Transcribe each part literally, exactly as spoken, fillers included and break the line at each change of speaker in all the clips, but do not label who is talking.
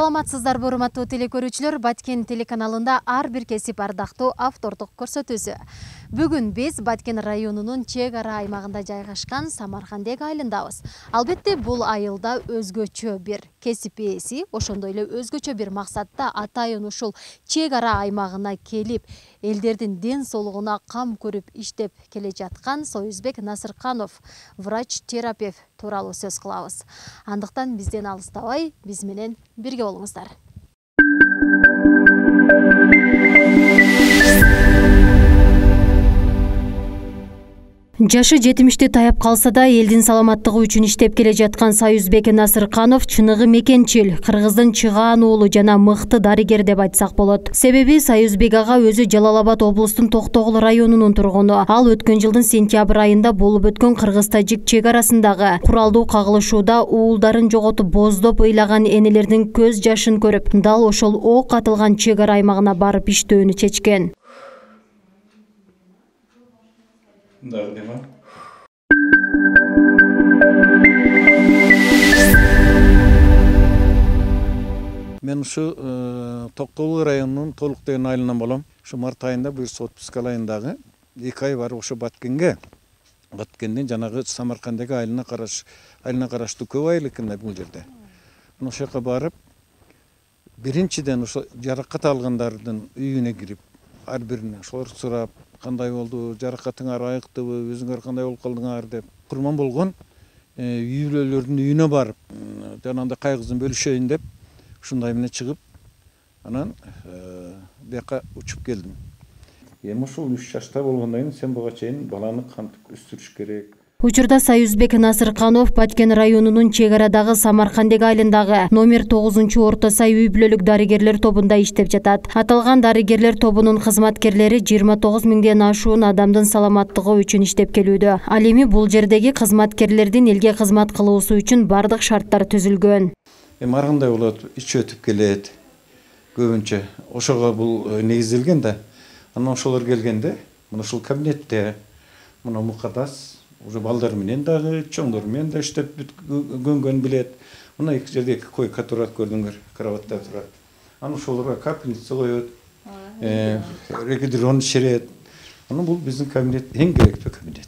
Саламатсыздарбы, урматтуу телекөрүүчүлөр, Баткен телеканалында ар бир кесип ардактуу автордук көрсөтүүсү. Бүгүн биз Баткен районунун чек ара аймагында жайгашкан Самаркандек айылындабыз. Албетте, бул айылда өзгөчө бир кесип ээси, ошондой эле өзгөчө бир максатта атайын ушул чек ара аймагына келип, элдердин ден соолугуна кам көрүп иштеп келе жаткан Союзбек Насырканов, врач-терапевт тууралуу сөз кылабыз. Андыктан бизден алыстабай, биз менен бирге болуңуздар. Жашы жетимишти таяп калса да, элдин саламаттыгы үчүн иштеп келе жаткан Союзбек Насырканов чыныгы мекенчил, кыргыздын чыгаан уулу жана мыкты дарыгер деп айтсак болот. Себеби Союзбек ага өзү Жалал Абад облустун Токтогул районунун тургуну. Ал өткөн жылдын сентябрь айында болуп өткөн кыргыз-тажик чек арасындагы куралдуу кагылышууда уулдарын жоготуп боздоп ыйлаган энелердин көз жашын көрүп, дал ошол ок атылган чек ара аймагына барып иштөөнү чечкен.
Мен ушу Токтогул районунун толук деген айылынан болом. Ушу март айында бир жүз отпуска айындагы эки ай барып ошо Баткенге, Баткенден жанагы Самаркандек айылына караш, айылына караштуу көп айыл экен бул жерде. Ошол жака барып, биринчиден ошо жаракат алгандардын үйүнө кирип, ар бирине ошолор сурап, кандай болду, жаракатыңар айыктыбы, өзүңөр кандай болуп калдыңар деп, курман болгон үй бүлөлөрдүн үйүнө барып, жанагындай кайгысын бөлүшөйүн деп, ушундай менен чыгып, анан бияка учуп келдим. Эми ушул үч жашта болгондон кийин сен буга чейин баланы кантип өстүрүш керек.
Учурда Союзбек Насырканов Баткен районунун чек арадагы Самаркандек айылындагы номер тогузунчу орто сай үй бүлөлүк дарыгерлер тобунда иштеп жатат. Аталган дарыгерлер тобунун кызматкерлери жыйырма тогуз миңден ашуун адамдын саламаттыгы үчүн иштеп келүүдө. Ал эми бул жердеги кызматкерлердин элге кызмат кылуусу үчүн бардык шарттар түзүлгөн.
Эми ар кандай болот, ич өтүп келет. Көбүнчө ошого бул негизделген да. Анан ошолор келгенде, мына ушул кабинетте, мына мукадас уже балдар менен дагы, чоңдор менен да иштеп көнгөн билет. Мына эки жерде эки койка турат, көрдүңөр, кроватта турат. Анан ошолорго капельница коет, регидрон иширет. Анан бул биздин кабинет, эң керектүү кабинет.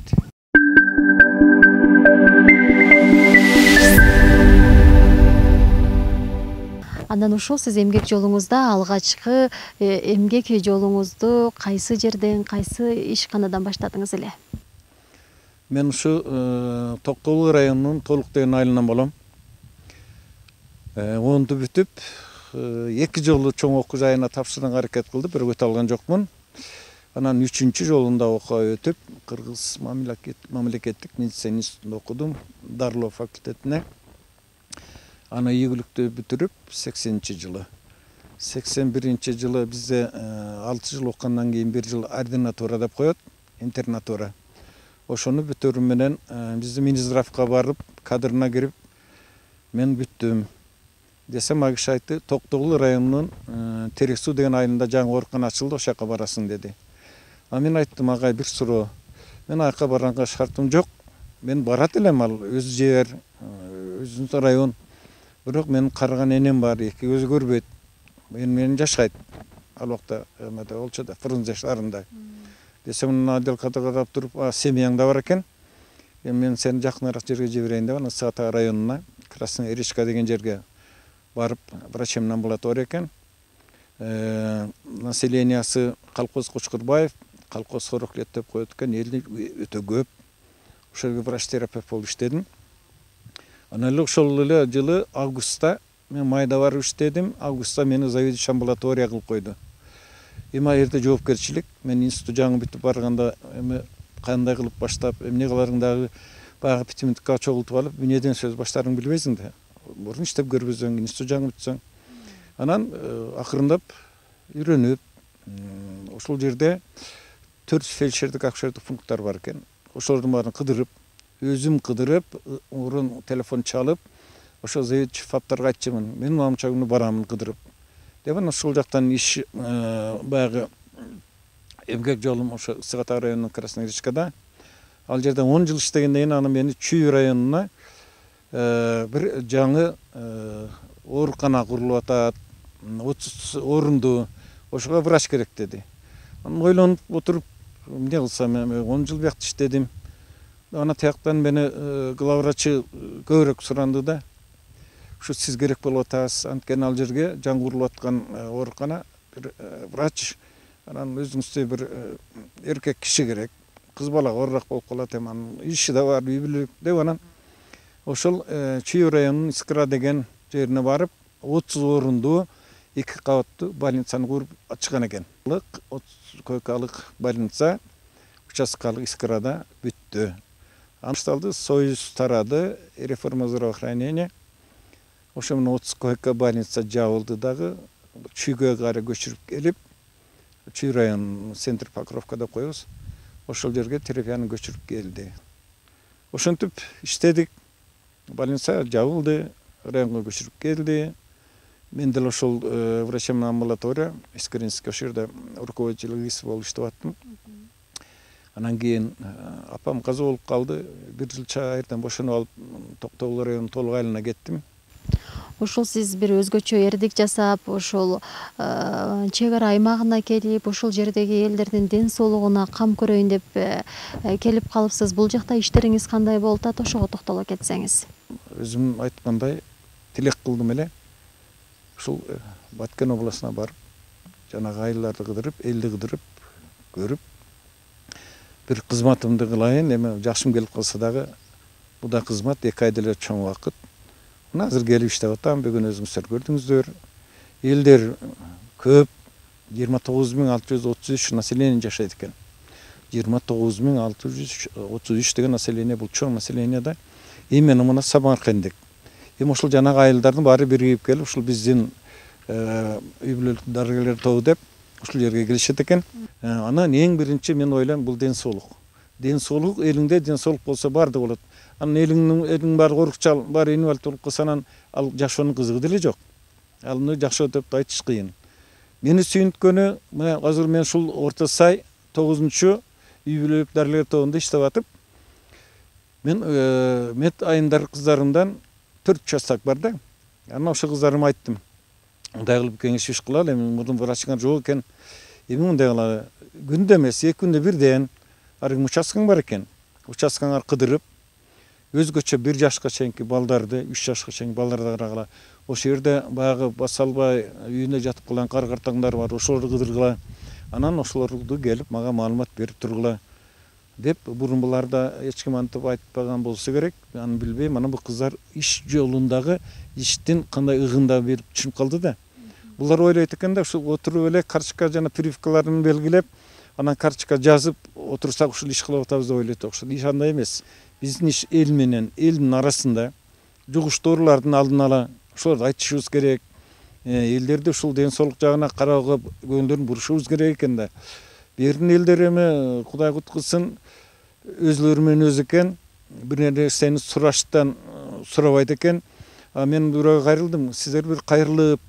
Андан ушул сиз эмгек жолуңузда алгачкы эмгек жолуңузду кайсы жерден, кайсы ишканадан баштадыңыз эле?
Мен ушу Токтогул районунун толук деген айылынан болом. онду бүтүп, эки жолу чоң окуу жайына тапшырганга аракет кылдым, бирок өтө алган жокмун. Анан үчүнчү жолунда окууга өтүп, Кыргыз мамлекеттик медицина институтунда окудум, дарылоо факультетине. Аны ийгиликтүү бүтүрүп, сексенинчи жылы. сексен биринчи жылы бизде алты жыл окугандан кийин бир жыл ординатура деп коет, интернатура. Ошону бүтүрүү менен биздин Минздравга барып, кадрына кирип, мен бүттүм. Десем, ал киши айтты, Токтогул районунун Терек суу деген айылында жаңы оорукана ачылды, ошол жака барасың деди. А мен айттым, агай, бир суроо. Мен аяка барганга шартым жок. Мен барат элем, ал өз жер, өзүнүн район. Бирок менин карыган энем бар, эки көзү көрбөйт. Мен менен жашайт. Ал убакта эмеде болчу да, Фрунзе шаарында. Десем, мына отделкада карап туруп, семьяң да бар экен. Мен сени жакыныраак жерге жиберейин деп, ана Саата районуна, Красная Речка деген жерге барып, врачемин амбулатория экен. Населениясы Калкоз Кучкурбаев, Калкоз сорок лет деп коет экен, элди өтө көп. Ошол жерге врач-терапевт болуп иштедим. Анан эле ошол эле жылы августта мен майда барып иштедим. Августта мени заведующий амбулатория кылып койду. Эми ал жерде жоопкерчилик, мен институт жаңы бүтүп барганда эми кандай кылып баштап, эмне кыларың дагы баягы питомникке чогултуп алып, эмнеден сөз баштарыңды билбейсиң да. Мурун иштеп көрбөсөң, институт жаңы бүтсөң. Анан акырындап үйрөнүп, ошол жерде төрт фельдшердик акушерлик пункттар бар экен. Ошолордун баарын кыдырып, өзүм кыдырып, урун телефон чалып, ошо заведующий фаптарга айтчумун, мен мамча күнү барамын кыдырып. Деп анан ошол жактан иш баягы эмгек жолум ошо Сыгата районунун Красная Речкада. Ал жерде он жыл иштегенден кийин аны мени Чүй районуна бир жаңы оорукана курулуп атат, отуз орунду, ошого врач керек деди. Анан ойлонуп отуруп, эмне кылсам, он жыл биякта иштедим. Ана тияктан мени главврачы көбүрөөк суранды да. Ушу сиз керек болуп атасыз. Анткени ал жерге жаңы курулуп аткан оорукана, бир врач, анан өзүңүздө бир эркек киши керек. Кыз бала оорураак болуп калат эми, анын иши да бар, үй бүлөлүк деп анан ошол Чүй районунун Искра деген жерине барып, отуз орунду эки кабаттуу больницаны куруп ачкан экен. отуз койкалык больница участкалык Искрада бүттү. Башталды, союз тарады, реформа здравоохранения. Ошо менен отуз койка больница жабылды дагы, Чүйгө кайра көчүрүп келип, Чүй район центр Покровка деп коебуз. Ошол жерге терапияны көчүрүп келди. Ошентип иштедик. Больница жабылды, районго көчүрүп келди. Мен деле ошол врачебный амбулатория, Искринский ошол жерде руководитель болуп иштеп аттым. Анан кийин апам каза болуп калды. Бир жыл чайырдан бошонуп алып, Токтогул районунун толук айылына кеттим.
Ошол сиз бир өзгөчө эрдик жасап, ошол чек ара аймагына келип, ошол жердеги элдердин ден соолугуна кам көрөйүн деп келип калыпсыз. Бул жакта иштериңиз кандай болуп атат? Ошого токтоло кетсеңиз.
Өзүм айткандай, тилек кылдым эле. Ушул Баткен областына барып, жанагы айылдарды кыдырып, элди кыдырып, көрүп, бир кызматымды кылайын. Эми жашым келип калса дагы, бул да кызмат, эки айда эле чоң убакыт. Мына азыр келип иштеп атам, бүгүн өзүңүздөр көрдүңүздөр. Элдер көп, жыйырма тогуз миң алты жүз отуз үч население жашайт экен. жыйырма тогуз миң алты жүз отуз үч деген население, бул чоң население да. Именно мына Самарканддык. Эми ошол жанагы айылдардын баары биригип келип, ушул биздин үй бүлөлүк дарыгерлер тобу деп ушул жерге келишет экен. Анан эң биринчи мен ойлойм, бул ден соолук. Ден соолук, элиңде ден соолук болсо баардыгы болот. Анан элиңдин элиң баары корукчал, баары инвалид болуп калса, анан ал жашоонун кызыгы деле жок. Алны жакшы деп айтыш кыйын. Мени сүйүнткөнү, мына азыр мен ушул Орто Сай тогузунчу үй бүлөлүк дарыгерлер тобунда иштеп атып, мен мед айымдар кыздарымдан төрт частак бар да. Анан ошол кыздарыма айттым. Мындай кылып кеңеш иш кылалы, эми мурдун врачыңар жок экен. Эми мындай кылалы, күндө эмес, эки күндө бирден арыгы участкаң бар экен. Участкаңар кыдырып, өзгөчө бир жашка чейинки балдарды, үч жашка чейинки балдарды карагыла. Ошол жерде баягы баса албай үйүнө жатып калган кар-картаңдар бар, ошолорду кыдыргыла. Анан ошолорду келип мага маалымат берип тургула деп, бурун буларда эч ким антип айтпаган болсо керек. Аны билбейм. Анан бул кыздар иш жолундагы иштин кандай ыгында берип түшүнүп калды да. Булар ойлойт экен да, ушул отуруп эле карточка жана прививкаларын белгилеп, анан карточка жазып отурсак ушул иш кылып атабыз деп ойлойт. Ошол иш андай эмес. Биздин иш эл менен элдин арасында жугуштуу оорулардын алдын ала ошолорду айтышыбыз керек. Элдерди ушул ден соолук жагына кароого көңүлдөрүн бурушубуз керек экен да. Бердин элдер эми Кудай куткузсын, өзлөрү менен өзү экен, бир нерсени сураштан сурабайт экен. А мен бирөөгө кайрылдым. Сиздер бир кайрылып,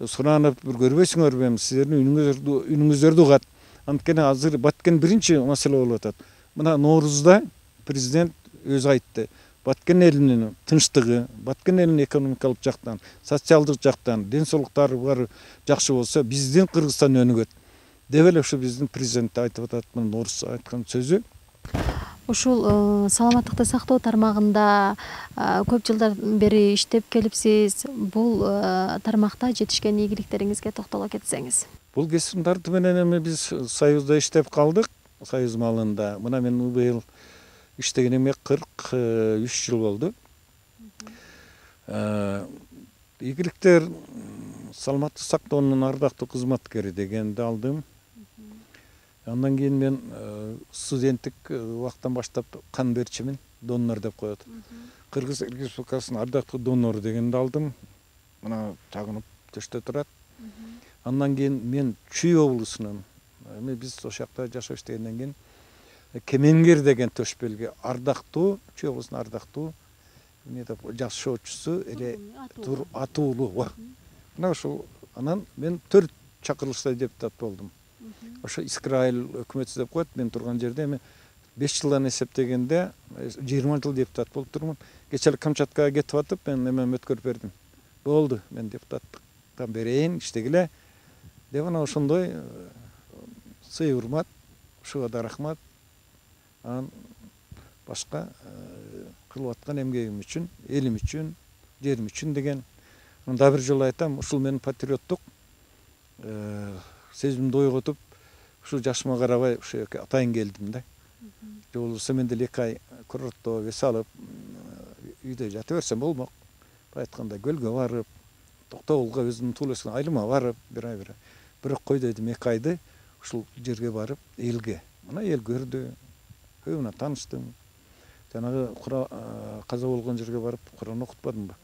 суранып бир көрбөйсүңөрбү? Эми сиздердин үнүңүздөрдү үнүңүздөрдү угат. Анткени азыр Баткен биринчи маселе болуп атат. Мына Ноорузда президент өзү айтты. Баткен элинин тынчтыгы, Баткен элинин экономикалык жактан, социалдык жактан, ден соолуктары баары жакшы болсо, биздин Кыргызстан өнүгөт деп эле ушу биздин президент айтып атат. Мына Ноорус айткан сөзү.
Ушул саламаттыкты сактоо тармагында көп жылдар бери иштеп келипсиз. Бул тармакта жетишкен ийгиликтериңизге токтоло кетсеңиз.
Бул кесимдарды менен эми биз Союзда иштеп калдык, Союз малында. Мына мен быйыл иштегениме кырк үч жыл болду. Ийгиликтер саламаттык сактоонун ардактуу кызматкери дегенди алдым. Андан кийин мен студенттик убактан баштап кан берчимин, донор деп коет. Кыргыз Республикасынын ардактуу донору дегенди алдым. Мына тагынып төштө турат. Андан кийин мен Чүй облусунун, эми биз ошол жакта жашап иштегенден кийин Кемеңгер деген төш белги ардактуу, Чүй облусунун ардактуу эмне деп жашоочусу эле атуулуу. Мына ошол анан мен төрт чакырылышта депутат болдум. Ошо Искра айыл өкмөтү деп коет. Мен турган жерде эми беш жылдан эсептегенде жыйырма жыл депутат болуп турмун. Кечээ Камчаткага кетип атып, мен эме өткөрүп бердим. болду, мен депутаттыктан берейин, иштегиле деп анан ошондой сый урмат, ушуга да рахмат. Анан башка кылып аткан эмгегим үчүн, элим үчүн, жерим үчүн деген. Дагы бир жолу айтам, ушул менин патриоттук сезимди ойготуп, ушу жашыма карабай ушу жерге атайын келдим да. Же болбосо мен деле эки ай курортто эс алып, үйдө жата берсем болмок. Бай айтканда көлгө барып, Токтогулга өзүмдүн туулуу өскөн айылыма барып, бир ай бир ай. Бирок кой дедим, эки айды ушул жерге барып, элге. Мына эл көрдү, көбү менен тааныштым. Жанагы каза болгон жерге барып, Куран окутпадымбы?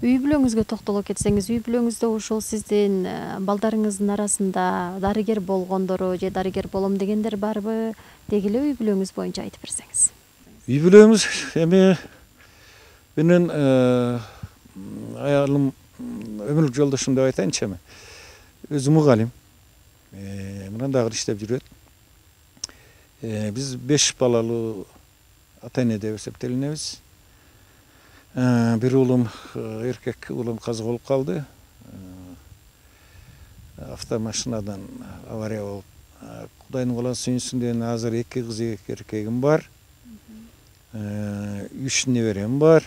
Үй бүлөңүзгө токтоло кетсеңиз, үй бүлөңүздө ушул сиздин балдарыңыздын арасында дарыгер болгондору же дарыгер болом дегендер барбы? Деги эле үй бүлөңүз боюнча айтып берсеңиз.
Үй бүлөңүз эми менен аялым, өмүрлүк жолдошум деп айтайынчы эми. Өзү мугалим. Мындан дагы иштеп жүрөт. Биз беш балалуу ата-эне деп эсептелинебиз. Бир уулум, эркек уулум каза болуп калды. Автомашинадан авария болуп, Кудайдын куласы сүйүнсүн, азыр эки кыз, эки эркегим бар. Үч неберем бар.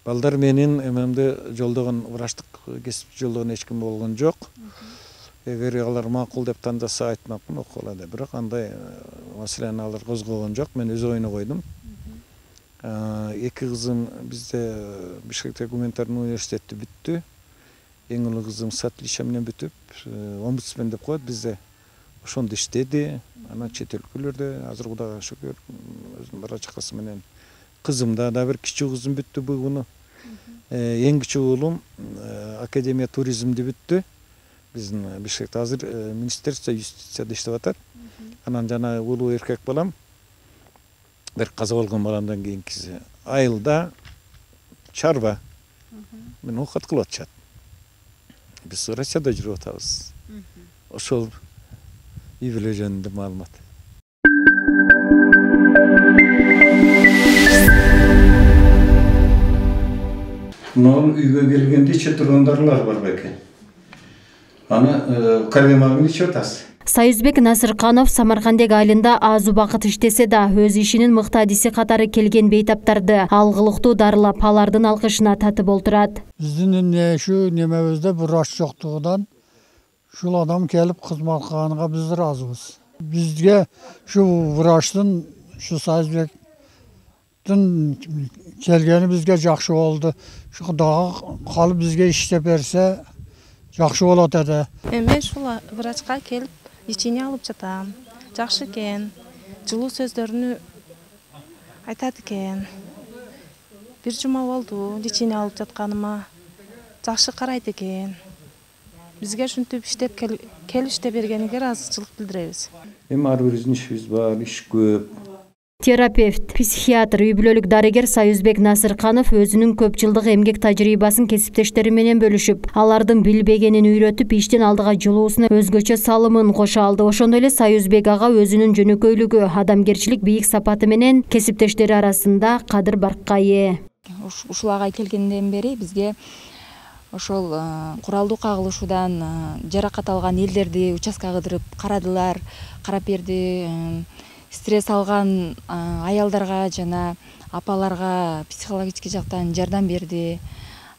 Балдар менин эмемди жолдогон, врачтык кесип жолдогон эч ким болгон жок. Эгер алар макул деп тандаса айтмакмын, окула деп. Бирок андай маселени алар козгогон жок. Мен өз оюна койдум. Эки кызым бизде Бишкекте гуманитардык университетти бүттү. Эң улуу кызым с отличием менен бүтүп, омбудсмен деп коет бизде. Ошондо иштеди. Анан чет өлкөлөрдө, азыр Кудайга шүгүр, өзүнүн бара чакасы менен. Кызым да да бир кичүү кызым бүттү бул күнү. Эң кичүү уулум академия туризмди бүттү. Биздин Бишкекте азыр министерство юстицияда иштеп атат. Анан жана улуу эркек балам бир каза болгон баламдан кийинкиси айылда чарба мен окат кылып атышат. Биз Россияда жүрүп атабыз. Ошол үй бүлө жөнүндө маалымат. Мынау үйгө келгенде иче тургандарлар бар бекен. Аны калемагын ичип атасыз.
Союзбек Насырканов Самаркандек айылында аз убакыт иштесе да, өз ишинин мыкты адиси катары келген бейтаптарды алгылыктуу дарылап, алардын алкышына татып олтурат.
Биздин ушу немебизде врач жоктугунан ушул адам келип кызмат кылганга биз ыраазыбыз. Бизге ушу врачтын, ушу Союзбектин келгени бизге жакшы болду. Ушу дагы калып бизге иштеп берсе жакшы болот эди.
Эми ушул врачка келип лечение алып жатам. Жакшы экен. Жылуу сөздөрүнү айтат экен. Бир жума болду лечение алып жатканыма. Жакшы карайт экен. Бизге ушинтип иштеп келип иштеп бергениге ыраазычылык билдиребиз.
Эми ар бириздин ишибиз бар, иш көп.
Терапевт, психиатр, үй бүлөлүк дарыгер Союзбек Насырканов өзүнүн көп жылдык эмгек тажрыйбасын кесиптештери менен бөлүшүп, алардын билбегенин үйрөтүп, иштин алдыга жылуусуна өзгөчө салымын кошо алды. Ошондой эле Союзбек ага өзүнүн жөнөкөйлүгү, адамгерчилик бийик сапаты менен кесиптештери арасында кадыр баркка ээ.
Ушул агай келгенден бери бизге ошол куралдуу кагылышуудан жаракат алган элдерди участкага кыдырып карадылар, карап берди. Стресс алган аялдарга жана апаларга психологический жактан жардам берди.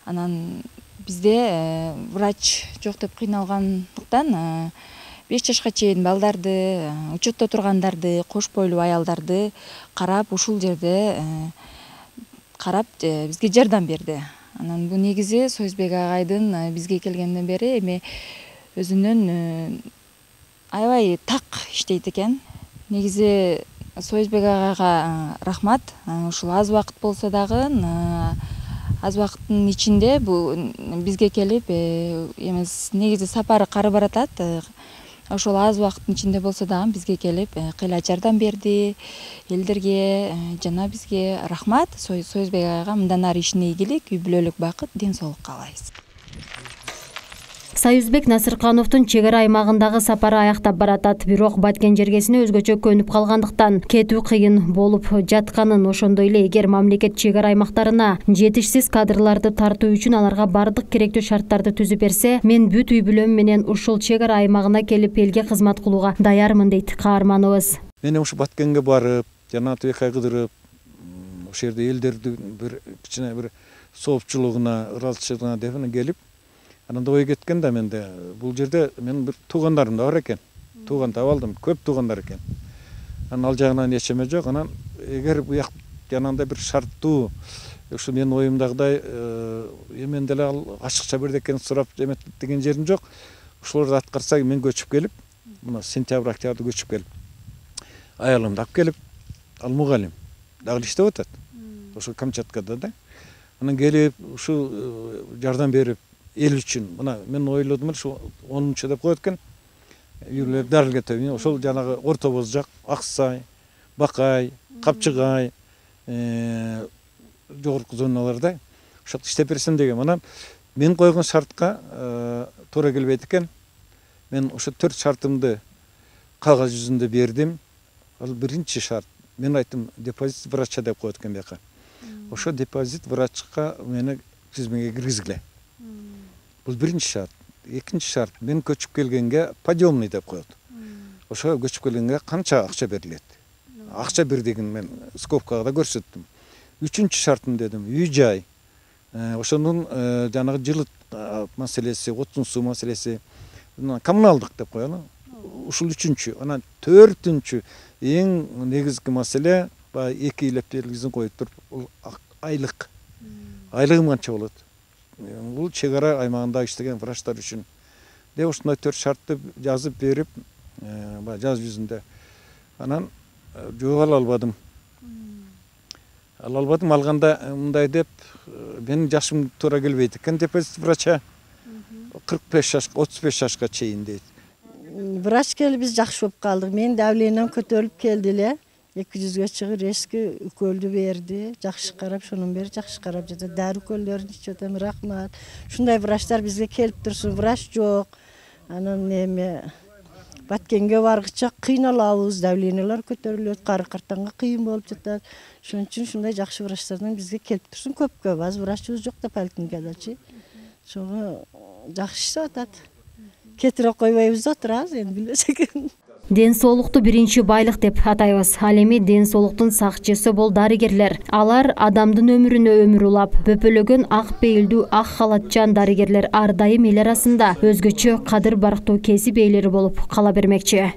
Анан бизде врач жок деп кыйналгандыктан беш жашка чейин балдарды, учетто тургандарды, кош бойлуу аялдарды карап, ушул жерде карап бизге жардам берди. Анан бул негизи Союзбек агайдын бизге келгенден бери эми өзүнүн аябай так иштейт экен. Негизи Союзбек агайга рахмат. Ушул аз убакыт болсо дагы, аз убакыттын ичинде бул бизге келип, эмес негизи сапары кары баратат. Ошол аз убакыттын ичинде болсо дагы бизге келип, кыйла жардам берди элдерге, жана бизге рахмат. Союзбек агайга мындан ары ишине ийгилик, үй бүлөлүк бакыт, ден соолук каалайбыз.
Союзбек Насыркановдун чек ара аймагындагы сапары аяктап баратат. Бирок Баткен жергесине өзгөчө көнүп калгандыктан кетүү кыйын болуп жатканын, ошондой эле эгер мамлекет чек ара аймактарына жетишсиз кадрларды тартуу үчүн аларга бардык керектүү шарттарды түзүп берсе, мен бүт үй бүлөм менен ушул чек ара аймагына келип элге кызмат кылууга даярмын дейт каарманыбыз.
Мен ушу Баткенге барып, жана Атыбек кыдырып, ошол жерде элдерди бир кичине бир соопчулугуна, ыралчылыгына деп келип, анан ой кеткен да менде. Бул жерде мен бир туугандарым да бар экен. Тууган таап алдым, көп туугандар экен. Анан ал жагынан эчеме жок. Анан эгер буяк жанагындай бир шарттуу, ушу менин оюмдагыдай эмен деле ал ачыкча бирдекени сурап эметип деген жерим жок. Ошолорду аткарса мен көчүп келип, мына сентябрь октябрда көчүп келип, аялымды алып келип, ал мугалим, дагы иштеп атат. Ошо Камчаткада да. Анан келип, ушу жардам берип, эл үчүн, мына мен ойлодум эле ушу онунчу деп коет экен. Юрлер дарылга төбү, ошол жанагы Орто Бозжак, Аксай, Бакай, Капчыгай, жогорку зоналарда ошол иштеп берсем деген. Анан мен койгон шартка туура келбейт экен. Мен ошо төрт шартымды кагаз жүзүндө бердим. Ал биринчи шарт. Мен айттым, депозит врача деп коет экен бияка. Ошо депозит врачка мени тизмеге киргизгиле. Бул биринчи шарт. Экинчи шарт, мен көчүп келгенге подъемный деп коет. Ошо көчүп келгенге канча акча берилет. Акча бир деген мен скобкага да көрсөттүм. Үчүнчү шартым дедим, үй жай. Ошонун жанагы жылыт маселеси, отун суу маселеси, коммуналдык деп коелу. Ушул үчүнчү. Анан төртүнчү эң негизги маселе, баягы эки илеп белгисин коюп туруп, бул айлык. Айлыгым канча болот? Бул чек ара аймагында иштеген врачтар үчүн. Деп ушундай төрт шартты жазып берип, баягы жаз жүзүндө. Анан жооп ала албадым. Ала албадым, алганда мындай деп, менин жашым туура келбейт экен депозит врача. кырк беш жашка, отуз беш жашка чейин дейт.
Врач келип биз жакшы болуп калдык. Менин давлением көтөрүлүп келди эле. эки жүзгө чыгып резкий уколду берди. Жакшы карап, шонун бери жакшы карап жатат. Дары уколдорун ичип атам, рахмат. Ушундай врачтар бизге келип турсун. Врач жок. Анан эме Баткенге баргыча кыйналабыз, давлениялар көтөрүлөт, кары картанга кыйын болуп жатат. Ошон үчүн ушундай жакшы врачтардан бизге келип турсун. Көпкө аз врачыбыз жок да поликлиникадачы. Ошого жакшы иштеп атат. Кетире койбойбуз да турабыз, эми билбесек.
Ден соолукту биринчи байлык деп атайбыз. Ал эми ден соолуктун сакчысы бол дарыгерлер. Алар адамдын өмүрүнө өмүр улап, бөпөлөгөн ак пейилдүү, ак халатчан дарыгерлер ар дайым эл арасында өзгөчө кадыр барктуу кесип ээлери болуп кала бермекчи.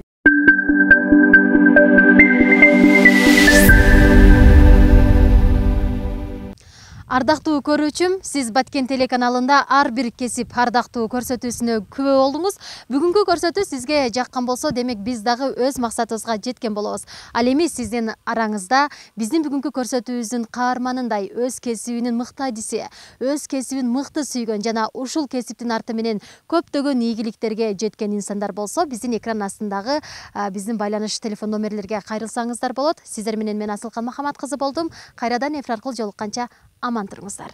Ардактуу көрүүчүм, сиз Баткен телеканалында ар бир кесип ардактуу көрсөтүүсүнө күбө болдуңуз. Бүгүнкү көрсөтүү сизге жаккан болсо, демек биз дагы өз максатыбызга жеткен болобуз. Ал эми сиздин араңызда биздин бүгүнкү көрсөтүүбүздүн каарманындай өз кесибинин мыкты адиси, өз кесибин мыкты сүйгөн жана ушул кесиптин арты менен көптөгөн ийгиликтерге жеткен инсандар болсо, биздин экран астындагы биздин байланыш телефон номерлерге кайрылсаңыздар болот. Сиздер менен мен Асылкан Махамат кызы болдум. Кайрадан эфир аркылуу жолукканча аман туруңуздар.